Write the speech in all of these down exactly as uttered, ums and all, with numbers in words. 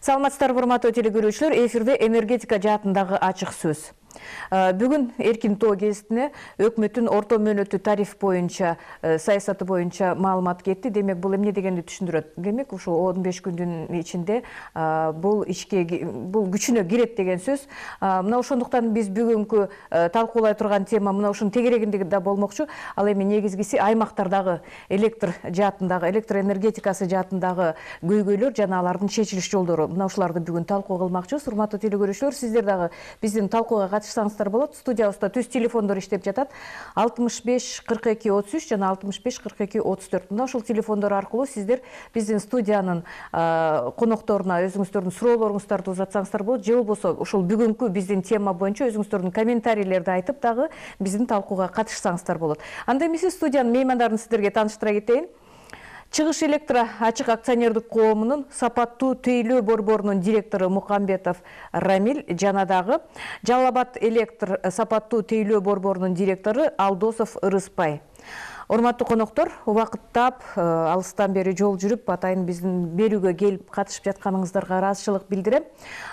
Саламатсыздарбы, урматтуу телекөрүүчүлөр, эфирде энергетика жаатындагы ачык сөз. Бүгүн эркин тоо гезитине өкмөттүн орто мөөнөттүү тариф боюнча саясаты боюнча маалымат кетти. Демек, бул эмне дегенди түшүндүрөт. Демек, ушул он беш күндүн ичинде бул ишке бул күчүнө кирет деген сөз. Мына ошондуктан биз бүгүнкү талкуулай турган тема мына ушунун тегерегинде да болмокчу. Ал эми негизгиси аймактардагы электр жаатындагы, электр энергетикасы жаатындагы көйгөйлөр жана алардын чечилиш жолдору. Мына ушуларды бүгүн талкуу кылмакчыбыз. Урматтуу телекөрүүчүлөр, сиздер дагы биздин талкууга катышсаңыздар болот. Студиябызда түз телефондор иштеп жатат. алтымыш беш кырк эки отуз үч жана алтымыш беш кырк эки отуз төрт. Мына ушул телефондор аркылуу сиздер биздин студиянын конокторуна өзүңүздөрдүн суроолоруңуздарды узатсаңыздар болот. Же болбосо ушул бүгүнкү биздин тема боюнча өзүңүздөрдүн комментарийлерди айтып дагы биздин талкууга катышсаңыздар болот. Анда эмесе студиянын меймандарын сиздерге тааныштыра кетейин. Чыгыш электро ачык акционердик коомунун сапаттуу тейлөө борборунун директору Мукамбетов Рамиль жана дагы Жалал Абад электр сапаттуу тейлөө борборунун директору Алдосов Ырыспай. Урматтуу коноктор, убакыттап, алыстан бери жол жүрүп, атайын биздин берүүгө келип катышып жатканыңыздарга ыраазычылык билдирем.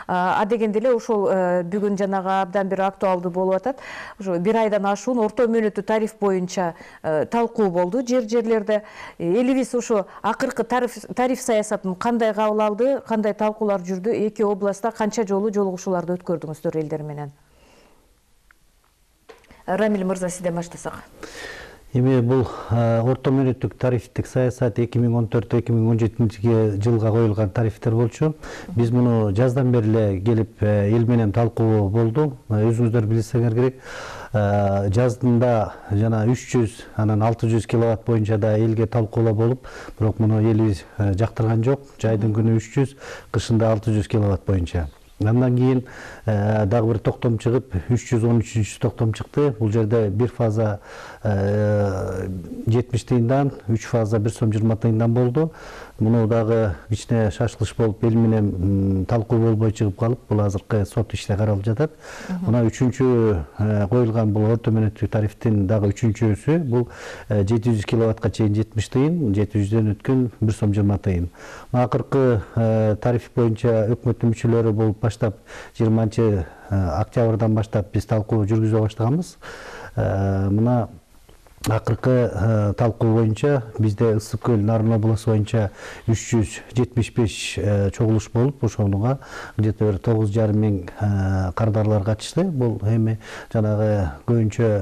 А дегенде эле ошол бүгүн жанагы абдан бир актуалдуу болуп атат. Ошо бир айдан ашуун орто мөөнөттүү тариф боюнча талкуу болду жер жерлерде. Элибиз ошо акыркы тариф тариф саясатын кандай кабыл алды, кандай талкуулар жүрдү, эки областта канча жолу жолугушууларды өткөрдүңүздөр элдер менен. Рамиль мырза, сизден баштасак. Эми бул орто мөөнөттүк тарифтик саясат эки миң он төрт эки миң он жетинчи жылга коюлган тарифтер болчу. Биз муну жаздан бери эле келип эл менен талкуу болду. Өзүңүздөр билсеңер керек, жазында жана үч жүз, анан алты жүз киловатт боюнча да элге талкуулоо болуп, бирок муну элибиз жактырган жок. Жайдын күнү үч жүз, кышында алты жүз киловатт боюнча. Андан кийин дагы бир токтом чыгып, үч жүз он үчүнчү токтом чыкты. Бул жерде бир фаза жетимиш тыйындан, үч фаза бир сом жыйырма тыйындан болду. Муну дагы кичине шашылыш болуп, эл менен талкуу болбой чыгып калып, бул азыркы сот иште каралып жатат. Мына үчүнчү коюлган бул орто мөөнөттүк тарифтин дагы үчүнчүсү, бул жети жүз киловаттка чейин жетимиш тыйын, жети жүздөн өткөн бир сом жыйырма тыйын. Акыркы тариф боюнча өкмөттүн мүчөлөрү болуп баштап жыйырманчы октябрдан баштап биз талкуу жүргүзө баштаганбыз. Мына акыркы талкуу боюнча бизде Ысык көл Нарын обласу боюнча үч жүз жетимиш беш чогулуш болуп, ошонуга где-то бир тогуз жарым миң кардарлар катышты. Бул эми жанагы көбүнчө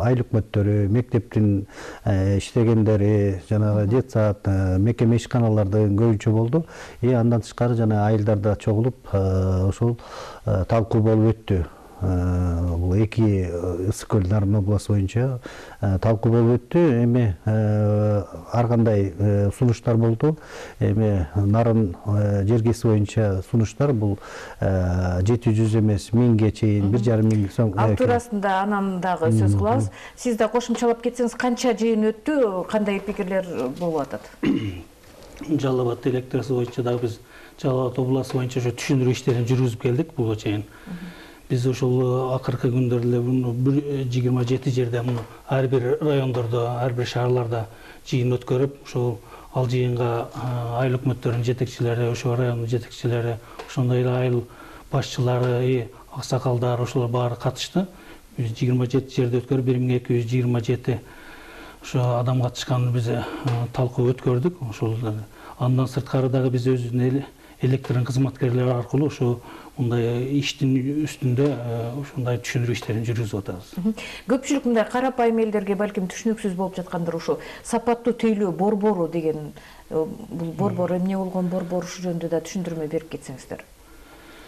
айыл өкмөттөрү, мектептин иштегендери, жанагы детсад, мекеме ишканалардын көбүнчө болду. И андан тышкары жана айылдарда чогулуп ошол талкуу болуп өттү. Бул эки Ысык көл Нарын обласу боюнча талкуу болуп өттү. Эми ар кандай сунуштар болду. Эми Нарын жергеси боюнча сунуштар бул жети жүз эмес, миңге чейин, бир жарым миң сом. Ал туурасында анан дагы сөз кылабыз. Сиз да кошумчалап кетсеңиз, канча жыйын өттү, кандай пикирлер болуп атат? Жалал Абад электрасы боюнча дагы биз Жалал Абад областы боюнча ошо түшүндүрүү иштерин жүргүзүп келдик буга чейин. Биз ошол акыркы күндөрдө бир жыйырма жети жерде ар бир райондордо, ар бир шаарларда жыйын өткөрүп, ошол ал жыйынга айыл өкмөттөрүнүн жетекчилери, ошол райондун жетекчилери, ошондой эле айыл башчылары, аксакалдар, ошолор баары катышты. жыйырма жети жерде өткөрүп, бир миң эки жүз жыйырма жети ошо адам катышкан биз талкуу өткөрдүк. Ошол андан сырткары дагы биз өзүбүздүн электрдин кызматкерлери аркылуу ошо мындай иштин үстүндө ошондой түшүндүрүү иштерин жүргүзүп атабыз. Көпчүлүк мындай карапайым элдерге балким түшүнүксүз болуп жаткандыр, ошо сапаттуу тейлөө борбору деген бул борбор эмне болгон борбор, ушул жөнүндө да түшүндүрмө берип кетсеңиздер.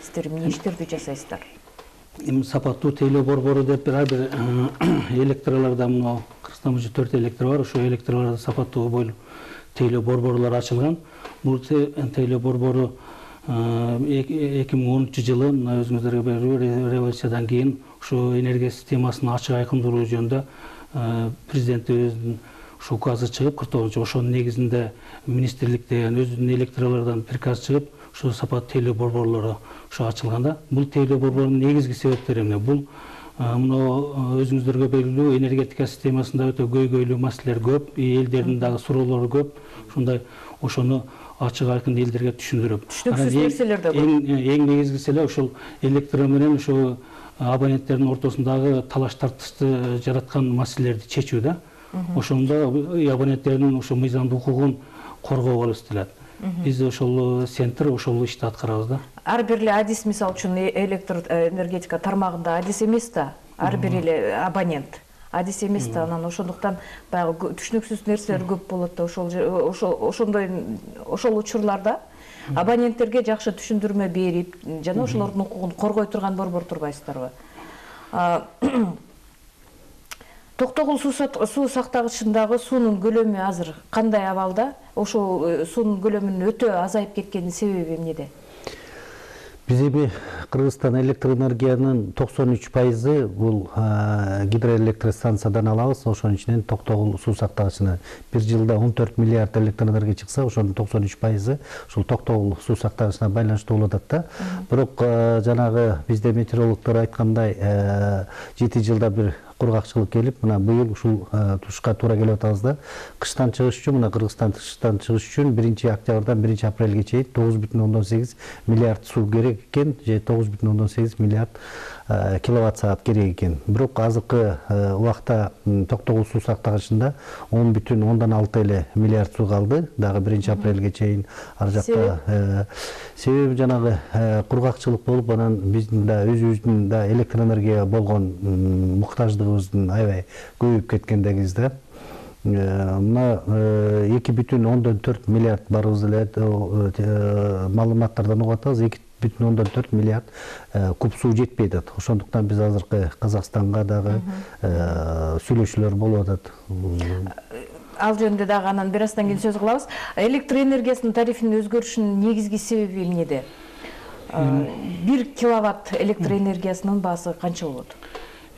Сиздер эмне иштерди жасайсыздар? Эми сапаттуу тейлөө борбору деп ар бир электрларда мына Кыргызстан боюнча төрт электр бар, ошо электрларда сапаттуу бойлуу тейлөө борборлору ачылган. Бул тейлөө борбору эки миң онунчу жылы өзүңүздөргө белгилүү революциядан кийин ушу энергия системасын ачык айкындыруу жөнүндө президентибиздин ушу указы чыгып, кырк тогузунчу ошонун негизинде министрликтен өзүнүн электрлардан приказ чыгып, ушу сапаттуу тейлөө борборлору ушу ачылганда. Бул тейлөө борборунун негизги себептери эмне? Бул мына өзүңүздөргө белгилүү энергетика системасында өтө көйгөйлүү маселелер көп, элдердин дагы суроолору көп. Ушундай ошону ачык айкын элдерге түшүндүрүп. Түшүнүксүз нерселер да көп. Эң негизгиси эле ошол электро менен ошо абоненттердин ортосундагы талаш тартышты жараткан маселелерди чечүү да. Ошондо абоненттердин ошо мыйзамдуу укугун коргоо болуп эстелет. Биз ошол центр ошол ишти аткарабыз да. Ар бир эле адис мисалы үчүн электр энергетика тармагында адис эмес да. Ар бир эле абонент адис эмес да. Анан ошондуктан баягы түшүнүксүз нерселер көп болот да. Ошол ошондой ошол учурларда абоненттерге жакшы түшүндүрмө берип, жана ошолордун укугун коргой турган борбор турбайсыздарбы? Токтогул суу сактагычындагы суунун көлөмү азыр кандай абалда? Ошол суунун көлөмүнүн өтө азайып кеткенин себеби эмнеде? Биз эми Кыргызстан электроэнергиянын токсон үч пайызы бул гидроэлектростанциядан алабыз. Ошонун ичинен Токтогул суу сактагычына бир жылда он төрт миллиард электроэнергия чыкса, ошонун токсон үч пайызы ушул Токтогул суу сактагычына байланыштуу болуп атат да. Бирок жанагы бизде метеорологдор айткандай жети жылда бир кургакчылык келип, мына быйыл ушул тушка туура келип атабыз да. Кыштан чыгыш үчүн, мына Кыргызстан кыштан чыгыш үчүн биринчи октябрдан биринчи апрелге чейин тогуз бүтүн ондон сегиз миллиард суу керек экен, же тогуз бүтүн ондон сегиз миллиард киловатт саат керек экен. Бирок азыркы убакта Токтогул суу сактагычында он бүтүн ондон алты эле миллиард суу калды, дагы биринчи апрелге чейин ар жакта. Себеби жанагы кургакчылык болуп, анан биздин да өзүбүздүн да электроэнергияга болгон муктаждыгыбыздын аябай көбөйүп кеткендегибиз да. Мына эки бүтүн ондон төрт миллиард барыбыз эле маалыматтардан угуп атабыз. эки бүтүн ондон төрт миллиард куб суу жетпей атат. Ошондуктан биз азыркы Казакстанга дагы сүйлөшүүлөр болуп атат. Ал жөнүндө дагы анан бир аздан кийин сөз кылабыз. Электр энергиясынын тарифинин өзгөрүшүнүн негизги себеби эмнеде? бир киловатт электр энергиясынын баасы канча болот?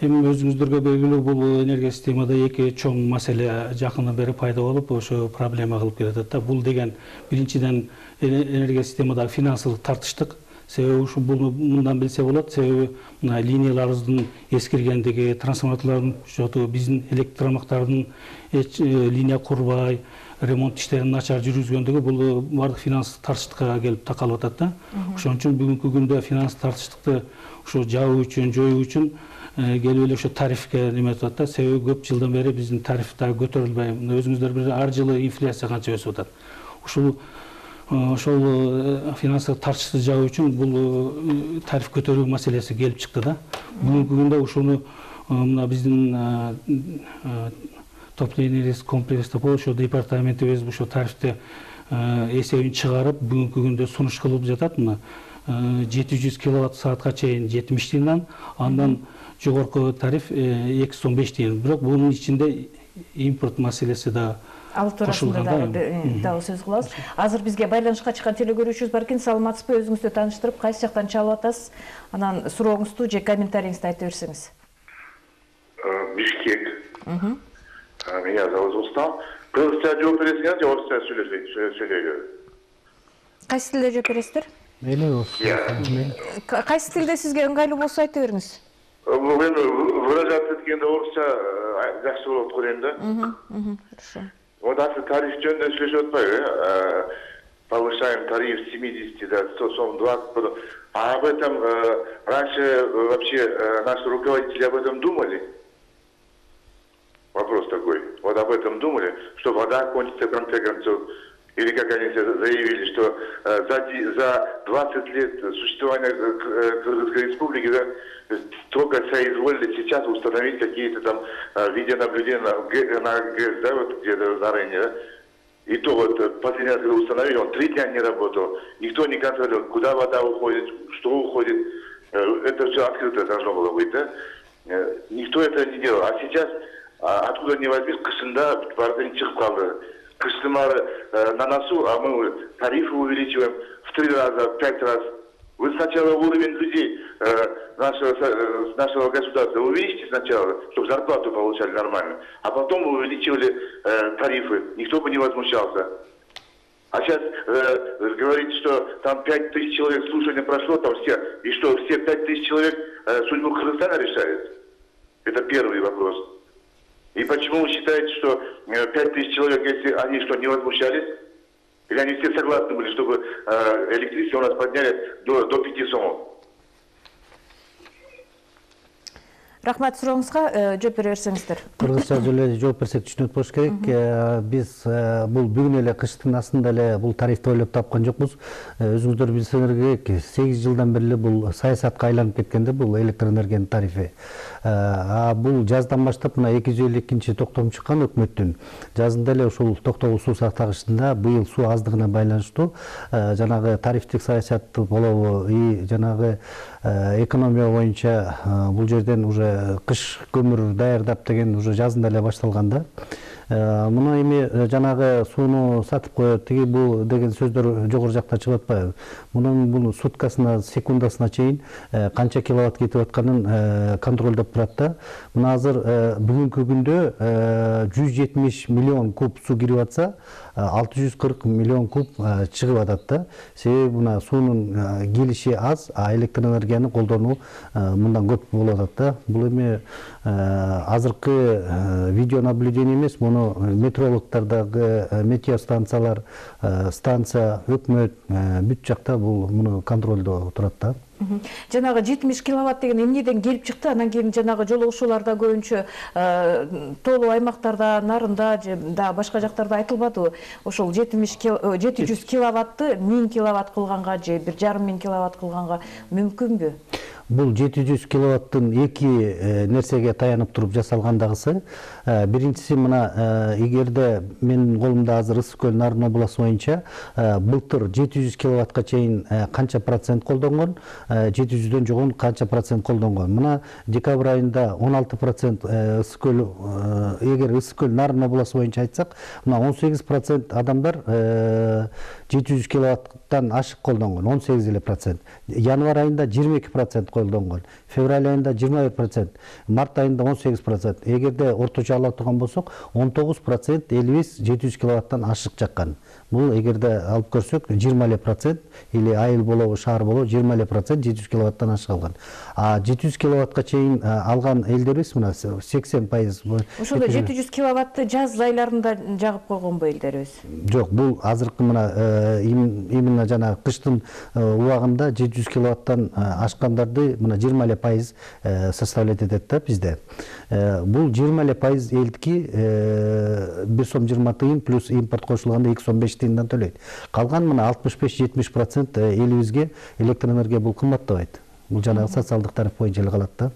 Эми өзүңүздөргө белгилүү, бул энергия системада эки чоң маселе жакындан бери пайда болуп, ошо проблема кылып келатат да. Бул деген биринчиден энергия системадагы финансылык тартыштык. Себеби ушу бул мындан билсе болот. Себеби мына линияларыбыздын эскиргендиги, трансформаторлордун жоту, биздин электр тармактардын линия курбай, ремонт иштерин начар жүргүзгөндүгү бул бардык финанстык тартыштыкка келип такалып атат да. Ошон үчүн бүгүнкү күндө финанстык тартыштыкты ушу жабуу үчүн, жоюу үчүн келип эле ошо тарифке неметип атат да. Себеби көп жылдан бери биздин тариф дагы көтөрүлбөй. Өзүңүздөр билет, ар жылы инфляция канча өсүп атат. Ушул ошол финансылык тартышты жабуу үчүн бул тариф көтөрүү маселеси келип чыкты да. Бүгүнкү күндө ушуну мына биздин топливный риск комплекс деп ошо департаментибиз ошо тарифти эсебин чыгарып, бүгүнкү күндө сунуш кылып жатат. Мына жети жүз киловатт саатка чейин жетимиш тыйындан, андан жогорку тариф эки жүз он беш тыйын. Бирок бунун ичинде импорт маселеси да ал туурасында дагы сөз кылабыз. Азыр бизге байланышка чыккан телекөрүүчүбүз бар экен. Саламатсызбы? Өзүңүздү тааныштырып, кайсы жактан чалып атасыз? Анан сурооңузду же комментарийиңизди айта берсеңиз. Бишкек. Меня зовут Рустам. Кыргызча жооп бересиңер же орусча сүйлөйбү? Кайсы тилде жооп бересиздер? Мейли болсун. Кайсы тилде сизге ыңгайлуу болсо айта бериңиз. Эми выражаться эткенде орусча жакшы болот го дейм да. Хорошо. Вот азыр тариф жөнүндө сүйлөшүп атпайбы? Повышаем тариф с семидесяти до сто двадцать. А об этом раньше вообще наши руководители об этом думали? Вопрос такой. Вот об этом думали, что вода кончится в конце концов. Или как они заявили, что за, за двадцать лет существования Кыргызской республики, да, только соизволили сейчас установить какие-то там видеонаблюдения на, на ГЭС, да, вот где-то на районе, да. И то вот последний раз, когда установили, он три дня не работал. Никто не контролировал, куда вода уходит, что уходит. Это все открыто должно было быть, да. Никто это не делал. А сейчас, откуда ни возьмись, кышында бардын чыгып калды. Кыштымары на носу, а мы тарифы увеличиваем в три раза, в пять раз. Вы сначала уровень людей нашего, нашего государства увеличьте сначала, чтобы зарплату получали нормально, а потом вы увеличивали тарифы. Никто бы не возмущался. А сейчас э, говорите, что там пять тысяч человек слушания прошло, там все, и что, все пять тысяч человек э, судьбу Кыргызстана решают? Это первый вопрос. И почему вы считаете, что пять тысяч человек, если они что, не возмущались? Или они все согласны были, чтобы э, электричество у нас подняли до, до пяти сомов? Рахмат, сурооңузга жооп бере берсеңиздер. Кыргызча эле жооп берсек түшүнөт болуш керек. Биз бул бүгүн эле кыштын астында эле бул тарифти ойлоп тапкан жокпуз. Өзүңүздөр билсеңер керек, сегиз жылдан бери бул саясатка айланып кеткенде бул электр энергиянын тарифи. А бул жаздан баштап мына эки жүз элүү экинчи токтом чыккан өкмөттүн. Жазында эле ушул токтогул суу сактагычында быйыл суу аздыгына байланыштуу жанагы тарифтик саясат болобу, и жанагы экономия боюнча бул жерден уже кыш көмүр даярдап деген уже жазында эле башталган да. Муну эми жанагы сууну сатып коет, тиги бул деген сөздөр жогору жакта чыгып атпайбы? Мунун бул суткасына, секундасына чейин канча киловатт кетип атканын контролдоп турат да. Мына азыр бүгүнкү күндө жүз жетимиш миллион куб суу кирип атса, алты жүз кырк миллион куб чыгып атат да. Себеби мына суунун келиши аз, а электр энергияны колдонуу мындан көп болуп атат да. Бул эми азыркы видеонаблюдение эмес, муну метеорологдордагы метеостанциялар, станция, өкмөт бүт жакта бул муну контролдо турат да. Жанагы жетимиш киловатт деген эмнеден келип чыкты? Анан кийин жанагы жолугушууларда көбүнчө тоолуу аймактарда, нарында же да башка жактарда айтылбадыбы? Ошол жети жүз киловатты миң киловатт кылганга же бир жарым миң киловатт кылганга мүмкүнбү? Бул жети жүз киловаттын эки нерсеге таянып туруп жасалгандагысы. Биринчиси мына эгерде менин колумда азыр Ысык көл Нарын областы боюнча былтыр жети жүз киловаттка чейин канча процент колдонгон, жети жүздөн жогон канча процент колдонгон. Мына декабрь айында он алты процент Ысык көл, эгер Ысык көл Нарын областы боюнча айтсак, мына он сегиз процент адамдар жети жүз киловаттан ашык колдонгон, он сегиз эле процент. Январь айында жыйырма эки процент колдонгон, февраль айында жыйырма бир процент, март айында он сегиз процент. Эгерде орточо ала турган болсок, он тогуз процент элибиз жети жүз киловаттан ашык жаккан. Бул эгерде алып көрсөк, жыйырма эле процент или айыл болобу, шаар болобу, жыйырма эле процент жети жүз киловаттан ашык алган. А жети жүз киловаттка чейин алган элдерибиз мына сексен пайыз. Ошондо жети жүз киловатты жаз айларында жагып койгонбу элдерибиз? Жок, бул азыркы мына именно жана кыштын убагында жети жүз киловаттан ашкандарды мына жыйырма эле пайыз составлять этет да бизде. Бул жыйырма эле пайыз элдики бир сом жыйырма тыйын плюс импорт кошулганда эки сом беш тыйындан төлөйт. Калган мына алтымыш беш жетимиш процент элибизге электр энергия бул кымбаттабайт. Бул жанагы социалдык тариф боюнча эле калат да.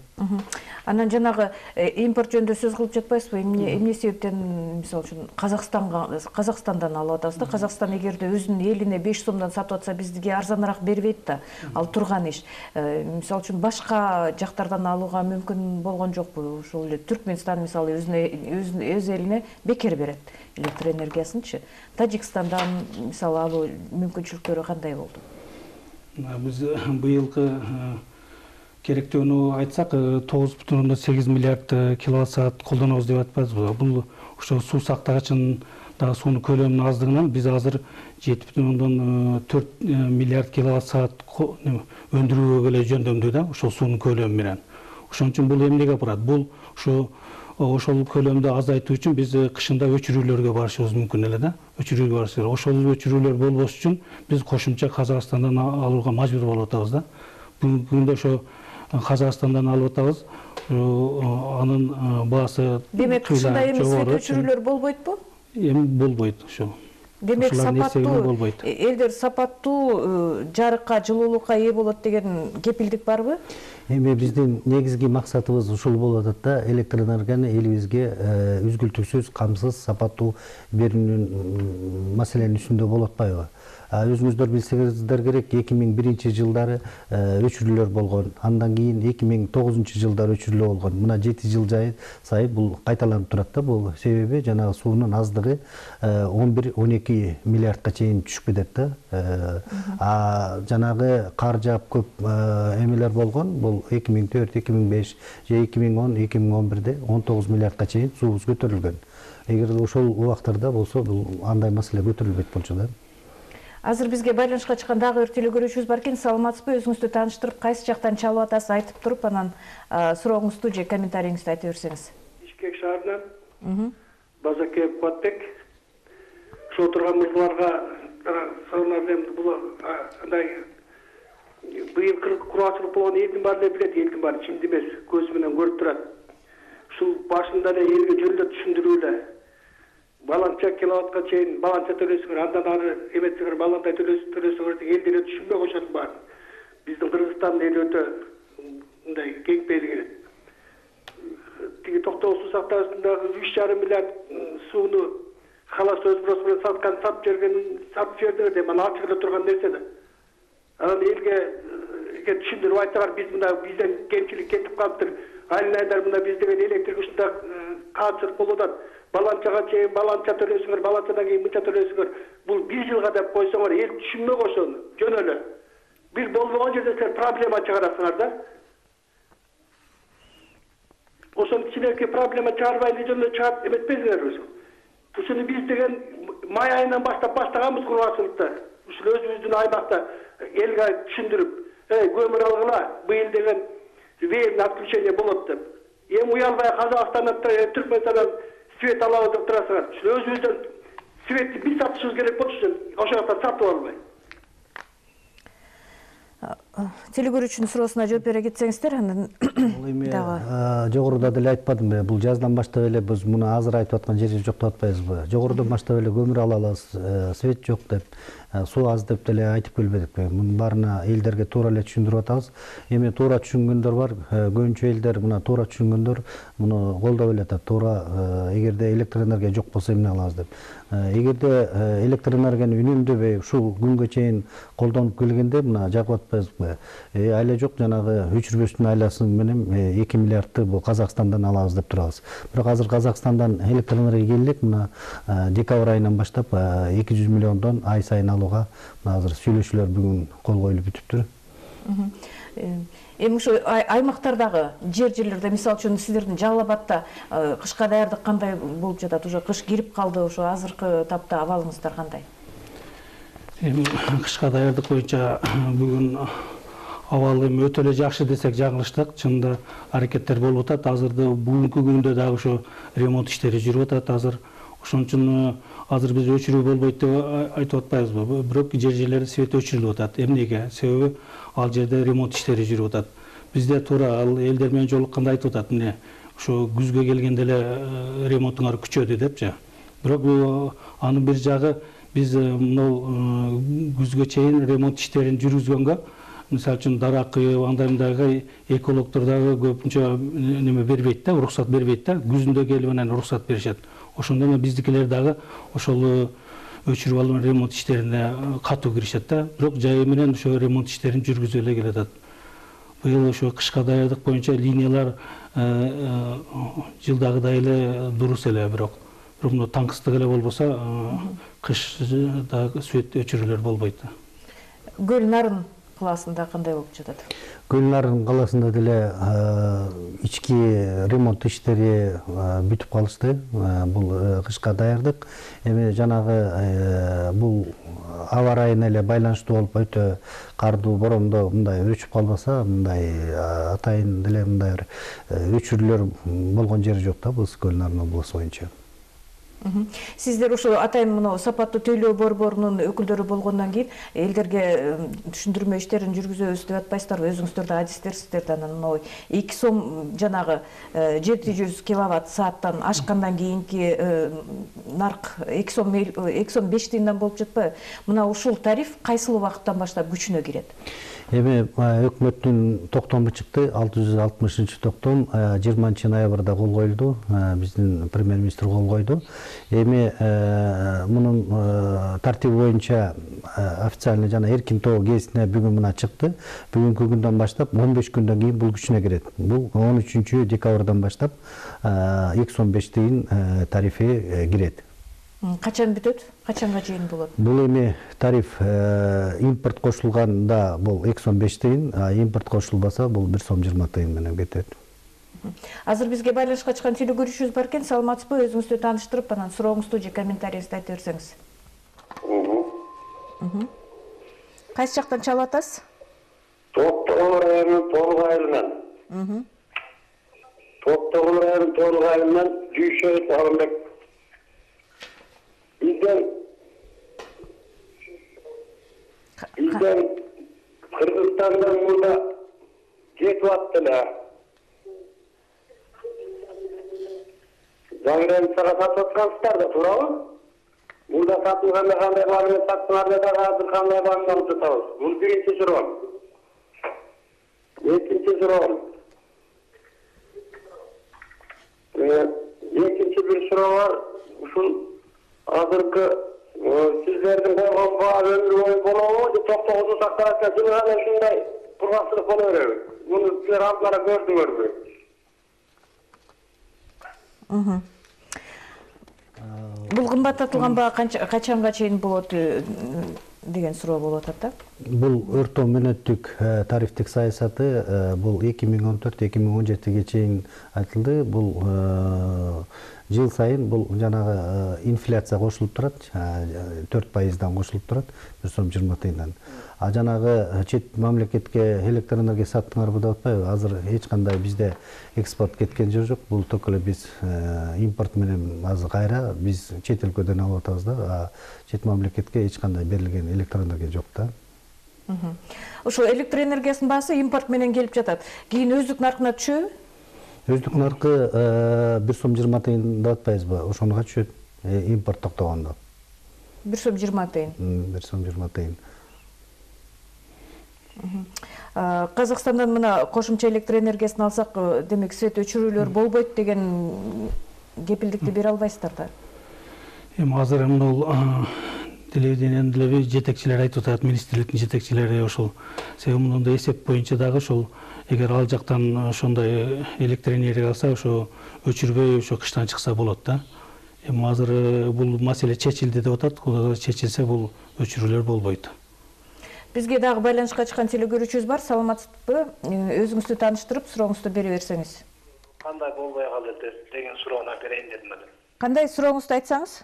Анан жанагы импорт жөнүндө сөз кылып жатпайсызбы? Эмне эмне себептен мисалы үчүн Казакстанга Казакстандан алып атабыз да. Казакстан эгерде өзүнүн элине беш сомдон сатып атса, бизге арзаныраак бербейт да. Ал турган иш. Мисалы үчүн башка жактардан алууга мүмкүн болгон жокпу? Ошол эле Түркмөнстан мисалы өзүнө өз элине бекер берет электр энергиясынчы. Тажикстандан мисалы алуу мүмкүнчүлүктөрү кандай болду? Биз быйылкы керектөөнү айтсак, тогуз бүтүн ондон сегиз миллиард киловатт саат колдонобуз деп атпайбызбы? Бул ошо суу сактагычын дагы суунун көлөмүнүн аздыгынан биз азыр жети бүтүн ондон төрт миллиард киловатт саат өндүрүүгө эле жөндөмдүү да, ошол суунун көлөмү менен. Ошон үчүн бул эмнеге барат? Бул ошо ошол көлөмдү азайтуу үчүн биз кышында өчүрүүлөргө барышыбыз мүмкүн эле да. Өчүрүүгө барышыбыз. Ошол өчүрүүлөр болбош үчүн биз кошумча Казакстандан алууга мажбур болуп атабыз да. Бүгүнкү күндө ошо Казакстандан алып атабыз. Анын баасы демек кышында эми свет өчүрүүлөр болбойтпу? Эми болбойт ошо. Демек сапаттуу элдер сапаттуу жарыкка, жылуулукка ээ болот деген кепилдик барбы? Эми биздин негизги максатыбыз ушул болуп атат да, электр энергияны элибизге үзгүлтүксүз, камсыз, сапаттуу берүүнүн маселенин үстүндө болуп атпайбы? Өзүңүздөр билсеңиздер керек, эки миң биринчи жылдары өчүрүүлөр болгон. Андан кийин эки миң тогузунчу жылдары өчүрүүлөр болгон. Мына жети жыл сайын бул кайталанып турат да. Бул себеби жанагы суунун аздыгы он бир он эки миллиардка чейин түшүп кетет да. А жанагы кар жаап көп эмелер болгон. Бул эки миң төрт, эки миң беш же эки миң он, эки миң он бирде он тогуз миллиардка чейин суубуз көтөрүлгөн. Эгер ошол убактарда болсо, бул андай маселе көтөрүлбөйт болчу да. Азыр бизге байланышка чыккан дагы бир телекөрүүчүбүз бар экен. Саламатсызбы? Өзүңүздү тааныштырып, кайсы жактан чалып атасыз айтып туруп, анан сурооңузду же комментарийиңизди айта берсеңиз. Бишкек шаарынан Базакеев Куатбек. Ошо турган мырзаларга сорунар эми бул андай быйыл кургачылык болгон элдин баары эле билет, элдин баары чимди эмес, көзү менен көрүп турат. Ушул башында эле элге жөндөп түшүндүрүү эле. Баланча киловаттка чейин баланча төлөсүңөр, андан ары эметсеңер баландай төлөсүңөр деп элдер түшүнбөй коюшат баарын. Биздин Кыргызстандын эли өтө мындай кең пейил келет. Тиги Токтогул суу сактагычындагы үч жарым миллиард сууну халас өз бросы менен саткан, сатып жерген, сатып жибердиңер деп анан ачык эле турган нерсе да. Анан элге түшүндүрүп айтсаңар, биз мына бизден кемчилик кетип калыптыр. Айлайдар мына биз деген электр күчүндө каатчылык болуп атат. Баланчага чейин баланча төлөсүңөр, баланчадан кийин мынча төлөсүңөр. Бул бир жылга деп койсоңор, эл түшүнмөк ошону. Жөн эле. Бир болбогон жерде сен проблема чыгарасыңар да. Ошону кичинекей проблема чыгарбайлы жөн эле чыгарып эметпейсиңер өзү. Ушуну биз деген май айынан баштап баштаганбыз кургачылыкта. Ушул өзүбүздүн аймакта элге түшүндүрүп, "Эй, көмүр алгыла, быйыл деген веерное отключение болот" деп. Эми уялбай Казакстандан, Түркмөнстандан свет алабыз деп турасыңар. Ушул өзүбүздөн светти биз сатышыбыз керек болчу, ошол жактан сатып албай. Телекөрүүчүнүн суроосуна жооп бере кетсеңиздер, андан дагы жогоруда деле айтпадымбы, бул жаздан баштап эле биз муну азыр айтып аткан жерибиз жок деп атпайбызбы? Жогорудон баштап эле көмүр ала алабыз, свет жок деп, суу аз деп деле айтып келбедикпи? Мунун баарына элдерге туура эле түшүндүрүп атабыз. Эми туура түшүнгөндөр бар, көбүнчө элдер мына туура түшүнгөндөр муну колдоп эле атат. Туура эгерде электр энергия жок болсо эмне кылабыз деп. Эгерде электр энергияны үнөмдөбөй ушул күнгө чейин колдонуп келгенде мына жагып атпайбызбы? Айла жок, жанагы өчүрбөстүн айласы менен эки миллиардты бул Казакстандан алабыз деп турабыз. Бирок азыр Казакстандан электр энергия келет, мына декабрь айынан баштап эки жүз миллиондон ай сайын алууга азыр сүйлөшүүлөр бүгүн кол коюлуп бүтүптүр. Эми ушу аймактардагы жер жерлерде, мисалы үчүн сиздердин Жалал Абадта кышка даярдык кандай болуп жатат? Уже кыш кирип калды, ошо азыркы тапта абалыңыздар кандай? Эми кышка даярдык боюнча бүгүн абал эми өтө эле жакшы десек жаңылыштык. Чынында аракеттер болуп атат. Азырда бүгүнкү күндө дагы ошо ремонт иштери жүрүп атат азыр. Ошон үчүн азыр биз өчүрүү болбойт деп айтып атпайбызбы? Бирок жер жерлерде свет өчүрүлүп атат. Эмнеге? Себеби ал жерде ремонт иштери жүрүп атат. Бизде туура ал элдер менен жолукканда айтып атат, мына ошо күзгө келгенде эле ремонтуңар күчөдү депчи. Бирок анын бир жагы биз мынау күзгө чейин ремонт иштерин жүргүзгөнгө, мисалы үчүн дара кыйып, андай мындайга экологдор дагы көпүнчө неме бербейт да, уруксат бербейт да. Күзүндө келип анан уруксат беришет. Ошондо эле биздикилер дагы ошол өчүрүп алуу ремонт иштерине катуу киришет да. Бирок жайы менен ошо ремонт иштерин жүргүзүп эле келатат. Быйыл ошо кышка даярдык боюнча линиялар жылдагыдай эле дурус эле, бирок бирок мына таңкыстык эле болбосо кышда свет өчүрүүлөр болбойт. Көл Нарын калаасында кандай болуп жатат? Көл Нарын калаасында деле ички ремонт иштери бүтүп калышты. Бул кышка даярдык. Эми жанагы бул аба ырайына эле байланыштуу болуп, өтө кардуу, борондо мындай өчүп калбаса, мындай атайын деле мындай бир өчүрүүлөр болгон жери жок да бул Көл Нарын облусу боюнча. Сиздер ошо атайын мына сапаттуу тейлөө борборунун өкүлдөрү болгондон кийин элдерге түшүндүрмө иштерин жүргүзөбүз деп атпайсыздарбы? Өзүңүздөр да адистерсиздер да, анан мына эки сом жанагы жети жүз киловатт сааттан ашкандан кийинки нарк эки сом эки сом беш тыйындан болуп жатпайбы? Мына ушул тариф кайсыл убакыттан баштап күчүнө кирет? Эми өкмөттүн токтому чыкты, алты жүз алтымышынчы токтом жыйырманчы ноябрда кол коюлду, биздин премьер-министр кол койду. Эми мунун тартиби боюнча официально жана эркин тоо гезитине бүгүн мына чыкты. Бүгүнкү күндөн баштап он беш күндөн кийин бул күчүнө кирет. Бул он үчүнчү декабрдан баштап эки сом беш тыйын тарифи кирет. Качан бүтөт? Качанга чейин болот? Бул эми тариф импорт кошулганда бул эки сом беш тыйын, а импорт кошулбаса бул бир сом жыйырма тыйын менен кетет. Азыр бизге байланышка чыккан телекөрүүчүбүз бар экен. Саламатсызбы? Өзүңүздү тааныштырып, анан сурооңузду же комментарийиңизди айта берсеңиз. Кайсы жактан чалып атасыз? Токтогул районунун Толук айылынан. Токтогул районунун Толук айылынан Жүйшөй Сагынбек. Бизден Бизден Кыргызстандан мурда жетип атты эле. Жаңыренцага сатып аткансыздар да, туурабы? Мурда сатылганда кандай бааны саттыңар да азыр кандай бааны алып жатабыз? Бул биринчи суроо. Экинчи суроо. Экинчи bir суроо бар. Ушул азыркы сиздердин койгон баа өмүр бою болобу же токтогузу сакталат жылы гана ушундай кургакчылык боло береби? Муну силер алдыра көрдүңөрбү? Бул кымбаттатылган баа качанга чейин болот деген суроо болуп атат да. Бул орто мөөнөттүк тарифтик саясаты бул эки миң он төрт эки миң он жетиге чейин айтылды. Бул жыл сайын бул жанагы инфляция кошулуп турат, төрт пайыздан кошулуп турат, бир сом жыйырма тыйындан. А жанагы чет мамлекетке электр энергия саттыңарбы деп атпайбы? Азыр эч кандай бизде экспорт кеткен жер жок. Бул ток эле биз импорт менен азыр кайра биз чет өлкөдөн алып атабыз да, а чет мамлекетке эч кандай берилген электр энергия жок да. Ошо электр энергиясынын баасы импорт менен келип жатат. Кийин өздүк наркына түшөбү? Өздүк наркы бир сом жыйырма тыйын деп атпайбызбы? Ошонуга түшөт импорт токтогондо. бир сом жыйырма тыйын. бир сом жыйырма тыйын. Казакстандан мына кошумча электр энергиясын алсак, демек свет өчүрүүлөр болбойт деген кепилдикти бере албайсыздар да. Эми азыр мына телевидениянын деле жетекчилери айтып атат, министрликтин жетекчилери ошол себеби мындай эсеп боюнча дагы ошол эгер ал жактан ошондой электр энергия алса, ошо өчүрбөй ошо кыштан чыкса болот да. Эми азыр бул маселе чечилди деп атат, кудайга чечилсе бул өчүрүүлөр болбойт. Бизге дагы байланышка чыккан телекөрүүчүбүз бар. Саламатсызбы? Өзүңүздү тааныштырып, сурооңузду бере берсеңиз. Кандай болбой калды деген суроону берейин дедим эле. Кандай сурооңузду айтсаңыз?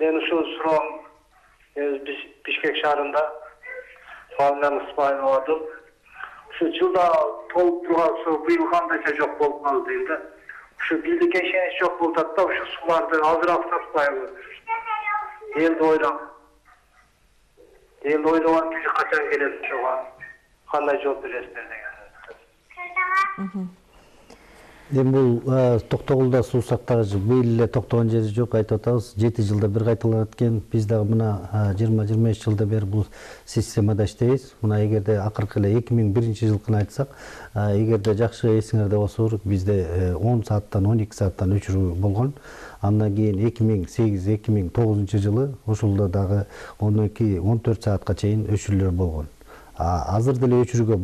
Мен ушул суроом биз Бишкек шаарында Фамилям Исмаилов адым. Ушу жылда толуп турган суу быйыл кандайча жок болуп калды дейм да. Ушу бийликке ишенич жок болуп атат да, ушу сууларды азыраак сатпайбы? Элди ойлоп. Элди ойлогон киши качан келет ошого? Кандай жооп бересиздер деген. Эми бул Токтогулда суу сактагыч быйыл эле токтогон жери жок, айтып атабыз. жети жылда бир кайталанат экен. Биз дагы мына жыйырма жыйырма беш жылда бери бул системада иштейбиз. Мына эгерде акыркы эле эки миң биринчи жылкыны айтсак, эгерде жакшы эсиңерде болсо, бизде он сааттан он эки сааттан өчүрүү болгон. Андан кийин эки миң сегиз эки миң тогузунчу жылы ошолдо дагы он эки он төрт саатка чейин өчүрүүлөр болгон. Азыр деле өчүрүүгө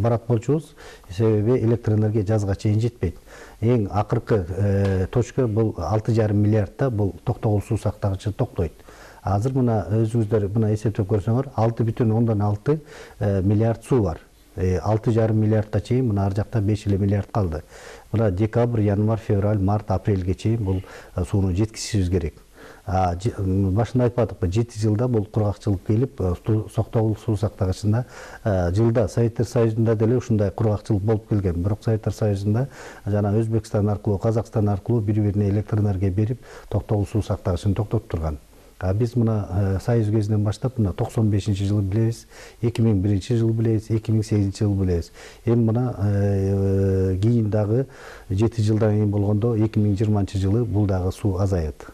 барат болчубуз, себеби электр энергия жазга чейин жетпейт. Эң акыркы точка бул алты жарым миллиардта бул Токтогул суу сактагычы токтойт. Азыр мына өзүңүздөр мына эсептеп көрсөңөр, алты бүтүн ондон алты миллиард суу бар. алты жарым миллиардта чейин мына ар жакта беш эле миллиард калды. Мына декабрь, январь, февраль, март, апрелге чейин бул сууну жеткизишибиз керек. Башында айтып атыппы, жети жылда бул кургакчылык келип, Токтогул суу сактагычында жылда Советтер Союзунда деле ушундай кургакчылык болуп келген. Бирок Советтер Союзунда жана Өзбекстан аркылуу, Казакстан аркылуу бири-бирине электр энергия берип, Токтогул суу сактагычын токтотуп турган. А биз мына Союз кезинен баштап мына токсон бешинчи жылы билебиз, эки миң биринчи жылы билебиз, эки миң сегизинчи жылы билебиз. Эми мына кийин дагы жети жылдан кийин болгондо эки миң жыйырманчы жылы бул дагы суу азайат.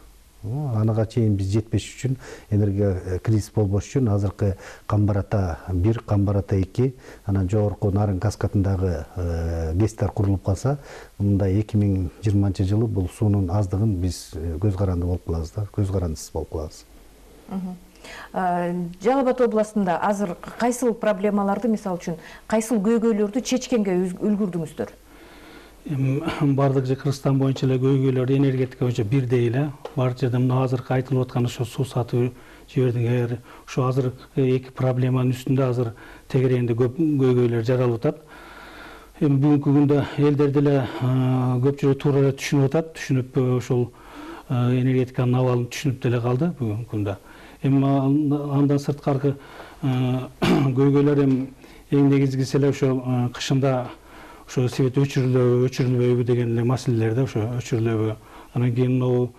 Анага чейин биз жетпеш үчүн, энергия кризис болбош үчүн азыркы Камбарата бир, Камбарата эки, анан жогорку Нарын каскадындагы гэстер курулуп калса, мындай эки миң жыйырманчы жылы бул суунун аздыгын биз көз каранды болуп калабыз да, көз карандысыз болуп калабыз. Жалал Абад областында азыр кайсыл проблемаларды, мисалы үчүн, кайсыл көйгөйлөрдү чечкенге үлгүрдүңүздөр? Бардык же Кыргызстан боюнча эле көйгөйлөр энергетика боюнча бирдей эле. Бар жерде мына азыркы айтылып аткан ошо суу сатып жибердиңер. Ошо азыр эки проблеманын үстүндө азыр тегерегинде көп көйгөйлөр жаралып атат. Эми бүгүнкү күндө элдер деле көпчүлүк туура эле түшүнүп атат, түшүнүп ошол энергетиканын абалын түшүнүп деле калды бүгүнкү күндө. Эми андан сырткары көйгөйлөр эми эң негизгиси эле ошо кышында ошо свет өчүрүлөбү, өчүрүлбөйбү деген эле маселелерде ошо өчүрүлөбү Анан кийин могу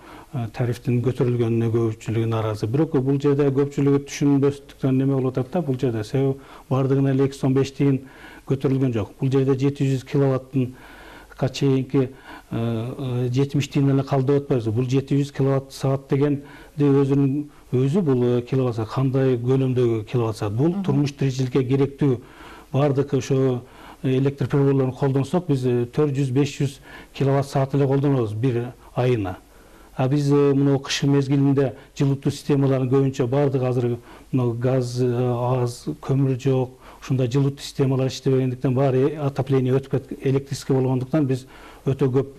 тарифтин көтөрүлгөнүнө көпчүлүгү нааразы. Бирок бул жерде көпчүлүгү түшүнбөстүктөн неме болуп атат да, бул жерде себеби бардыгына эле эки жүз он беш тыйын көтөрүлгөн жок. Бул жерде жети жүз киловаттынга чейинки жетимиш тыйын эле калды деп атпайбызбы? Бул жети жүз киловатт саат дегенди өзүнүн өзү бул киловатт саат кандай көлөмдөгү киловатт саат? Бул турмуш тиричиликке керектүү бардык ошо электр приборлорун колдонсок, биз төрт жүз беш жүз киловатт саат эле колдонобуз бир айына. А биз мына кыш мезгилинде жылытуу системаларын көбүнчө бардык азыр мына газ аз, көмүр жок, ушундай жылытуу системалары иштебегендиктен баары отопление өтүп электрический болгондуктан биз өтө көп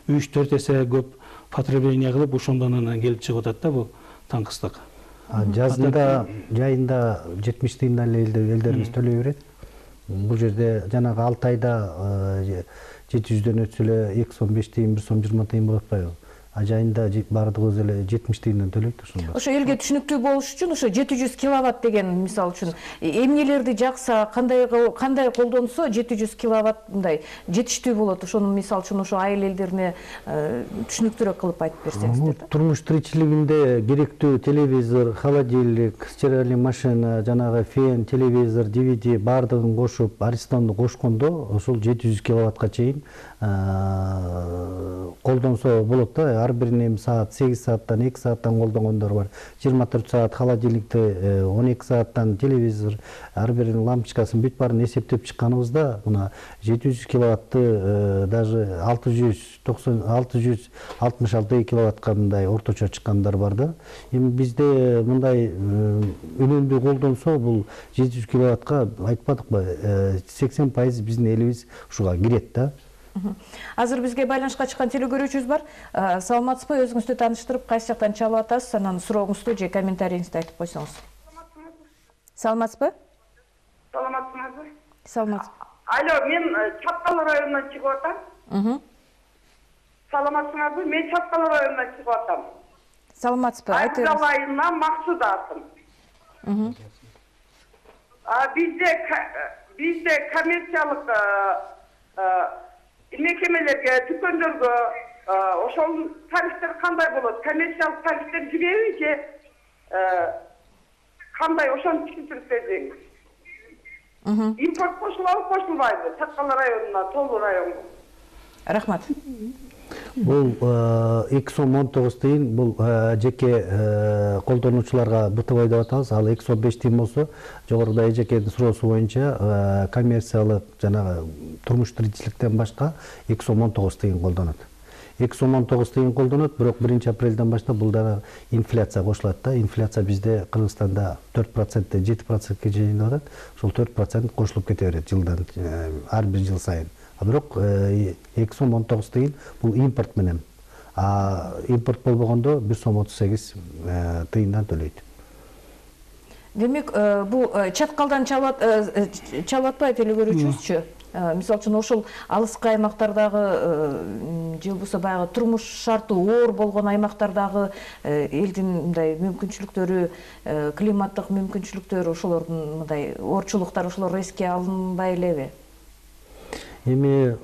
үч төрт эсе көп потребление кылып ошондон анан келип чыгып атат да бул таңкыстык. Жазында, жайында жетимиш тыйындан эле элдерибиз төлөй берет. Бул жерде жанагы алты айда жети жүздөн өтсө эле эки жүз он беш тыйын, бир сом жыйырма тыйын болуп атпайбы? А жайында баардыгыбыз эле жетимиш тыйындан төлөйт ошондо. Ошо элге түшүнүктүү болуш үчүн ошо жети жүз киловатт деген мисалы үчүн эмнелерди жакса, кандай кандай колдонсо жети жүз киловатт мындай жетиштүү болот. Ошону мисалы үчүн ошо айыл элдерине түшүнүктүүрөөк кылып айтып берсеңиздер да. Турмуш тиричилигинде керектүү телевизор, холодильник, стиральный машина, жанагы фен, телевизор, ди ви ди баардыгын кошуп, аристонду кошкондо ошол жети жүз киловаттка чейин колдонсо болот да. Ар биринен саат сегиз сааттан, эки сааттан колдонгондор бар. жыйырма төрт саат холодильникти, он эки сааттан телевизор, ар биринин лампочкасын бүт баарын эсептеп чыкканыбызда мына жети жүз киловатты даже алты жүз токсон алты жүз алтымыш алты киловаттка мындай орточо чыккандар бар да. Эми бизде мындай үнөмдүү колдонсо бул жети жүз киловаттка айтпадыкпы, сексен пайыз биздин элибиз ушуга кирет да. Азыр бизге байланышка чыккан телекөрүүчүбүз бар. Саламатсызбы? Өзүңүздү тааныштырып, кайсы жактан чалып атасыз, анан сурооңузду же комментарийиңизди айтып койсоңуз. Саламатсызбы? Саламатсызбы? Саламатсызбы. Алло, мен Чапкал районунан чыгып атам. Саламатсызбы? Мен Чапкал районунан чыгып атам. Саламатсызбы? Айтыңыз. Айгал айынан Максут атым. Бизде бизде коммерциялык мекемелерге, дүкөндөргө ошол тарифтер кандай болот? Коммерциялык тарифтер жибеби же кандай, ошону түшүндүрүп берсеңиз. Импорт кошулабы, кошулбайбы? Чапкал районуна, Тоолуу районго. Рахмат. Бул эки сом он тогуз тыйын бул жеке колдонуучуларга бытовой деп атабыз. Ал эки жүз он беш тыйын болсо, жогоруда эжекенин суроосу боюнча коммерциялык жанагы турмуш тиричиликтен башка эки жүз он тогуз тыйын колдонот. эки жүз он тогуз тыйын колдонот, бирок биринчи апрелден баштап бул дагы инфляция кошулат да. Инфляция бизде Кыргызстанда төрт проценттен жети процентке чейин атат. Ошол төрт процент кошулуп кете берет жылдан ар бир жыл сайын. Бирок эки сом он тогуз тыйын бул импорт менен. А импорт болбогондо бир сом отуз сегиз тыйындан төлөйт. Демек, бул чаткалдан чалып атпайбы телекөрүүчүбүзчү? Мисалы үчүн ошол алыскы аймактардагы же болбосо баягы турмуш шарты оор болгон аймактардагы элдин мындай мүмкүнчүлүктөрү, климаттык мүмкүнчүлүктөрү, ошолордун мындай оорчулуктары ошолор эске алынбай элеби? Эми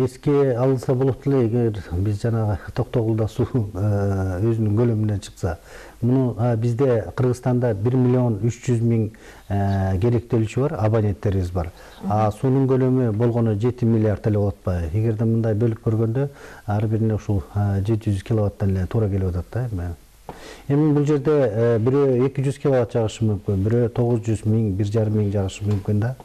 эске алынса болот эле, эгер биз жанагы Токтогулда суу өзүнүн көлөмүнөн чыкса. Муну бизде Кыргызстанда бир миллион үч жүз миң керектелүүчү бар, абоненттерибиз бар. А суунун көлөмү болгону жети миллиард эле болуп атпайбы? Эгерде мындай бөлүп көргөндө ар бирине ушул жети жүз киловаттан эле туура келип атат да эми. Эми бул жерде бирөө эки жүз киловатт жагышы мүмкүн, бирөө тогуз жүз миң, бир жарым миң жагышы мүмкүн да.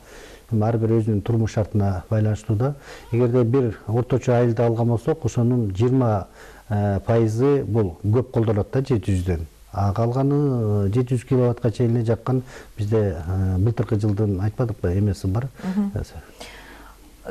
Ар бир өзүнүн турмуш шартына байланыштуу да. Эгерде бир орточо айылды алган болсок, ошонун жыйырма пайызы бул көп колдонот да жети жүздөн. А калганы жети жүз киловаттка чейин эле жаккан бизде былтыркы жылдын айтпадыкпы эмеси бар.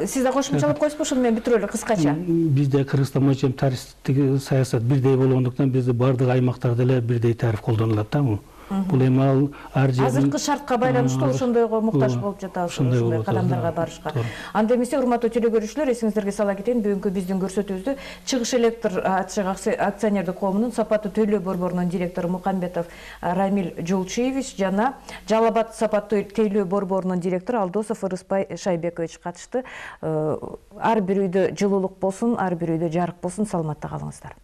Сиз да кошумчалап койсузбу, ошону менен бүтүрөлү кыскача. Бизде Кыргызстан боюнча тарифтик саясат бирдей болгондуктан бизде бардык аймактарда эле бирдей тариф колдонулат да. Бул эми ал ар жердин азыркы шартка байланыштуу ошондойго муктаж болуп жатабыз, ошондой кадамдарга барышка. Анда эмесе, урматтуу телекөрүүчүлөр, эсиңиздерге сала кетейин, бүгүнкү биздин көрсөтүүбүздө Чыгыш электр ачык акционердик коомунун сапаттуу төлөө борборунун директору Мукамбетов Рамиль Жолчиевич жана Жалал Абад сапаттуу тейлөө борборунун директору Алдосов Ырыспай Шайбекович катышты. Ар бир үйдө жылуулук болсун, ар бир үйдө жарык болсун, саламатта калыңыздар.